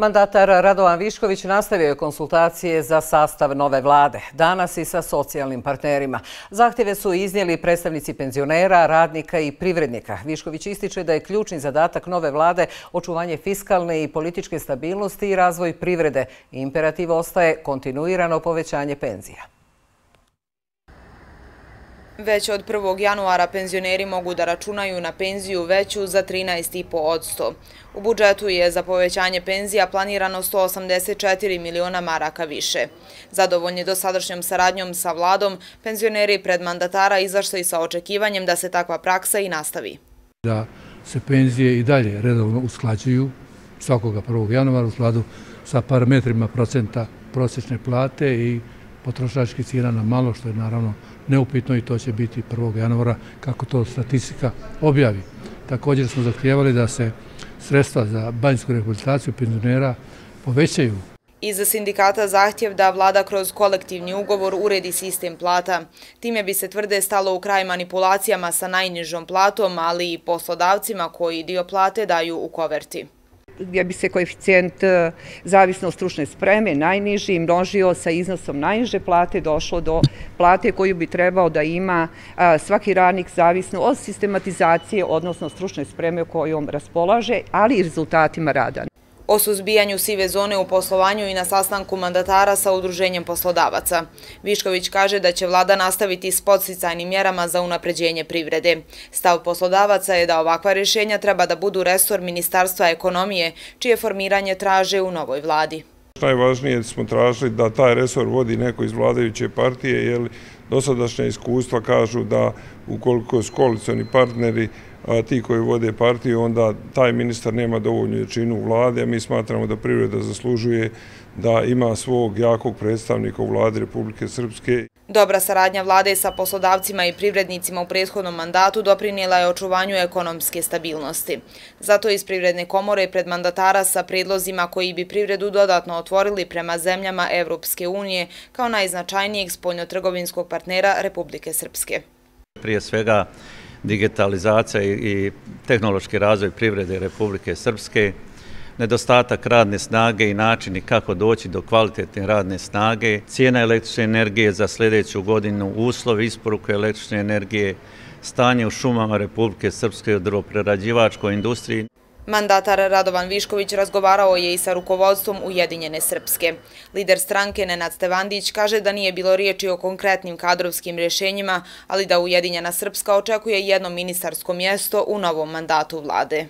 Mandatar Radovan Višković nastavio je konsultacije za sastav nove vlade, danas i sa socijalnim partnerima. Zahtjeve su iznijeli predstavnici penzionera, radnika i privrednika. Višković ističe da je ključni zadatak nove vlade očuvanje fiskalne i političke stabilnosti i razvoj privrede. Imperativ ostaje kontinuirano povećanje penzija. Već od 1. januara penzioneri mogu da računaju na penziju veću za 13,5%. U budžetu je za povećanje penzija planirano 184 miliona maraka više. Zadovoljni dosadašnjom saradnjom sa vladom, penzioneri pred mandatara izašli sa očekivanjem da se takva praksa i nastavi. Da se penzije i dalje redovno usklađuju svakoga 1. januara u skladu sa parametrima procenta prosječne plate i potrošačkih cijena na malo, što je naravno neupitno i to će biti 1. januara kako to statistika objavi. Također smo zahtijevali da se sredstva za banjsku rehabilitaciju penzionera povećaju. Iza sindikata zahtjev da vlada kroz kolektivni ugovor uredi sistem plata. Time bi se tvrde stalo u kraj manipulacijama sa najnižom platom, ali i poslodavcima koji dio plate daju u koverti. Gdje bi se koeficijent zavisno od stručne spreme najniži množio sa iznosom najniže plate, došlo do plate koju bi trebao da ima svaki radnik zavisno od sistematizacije, odnosno stručne spreme kojom raspolaže, ali i rezultatima rada. O suzbijanju sive zone u poslovanju i na sastanku mandatara sa Udruženjem poslodavaca. Višković kaže da će vlada nastaviti s podsticajnim mjerama za unapređenje privrede. Stav poslodavaca je da ovakva rješenja treba da budu resor Ministarstva ekonomije, čije formiranje traže u novoj vladi. Najvažnije smo tražili da taj resor vodi neko iz vladajuće partije, jer dosadašnja iskustva kažu da ukoliko su koalicioni partneri ti koji vode partiju, onda taj ministar nema dovoljnu jačinu u vladi, a mi smatramo da privreda zaslužuje da ima svog jakog predstavnika u vladi Republike Srpske. Dobra saradnja vlade sa poslodavcima i privrednicima u prethodnom mandatu doprinijela je očuvanju ekonomske stabilnosti. Zato iz Privredne komore pred mandatara sa predlozima koji bi privredu dodatno otvorili prema zemljama Evropske unije kao najznačajnijeg spoljnotrgovinskog partnera Republike Srpske. Prije svega digitalizacija i tehnološki razvoj privrede Republike Srpske, nedostatak radne snage i načini kako doći do kvalitetne radne snage, cijena električne energije za sljedeću godinu, uslovi isporuke električne energije, stanje u šumama Republike Srpske u drvoprerađivačkoj industriji. Mandatar Radovan Višković razgovarao je i sa rukovodstvom Ujedinjene Srpske. Lider stranke Nenad Stevandić kaže da nije bilo riječi o konkretnim kadrovskim rješenjima, ali da Ujedinjena Srpska očekuje jedno ministarsko mjesto u novom mandatu vlade.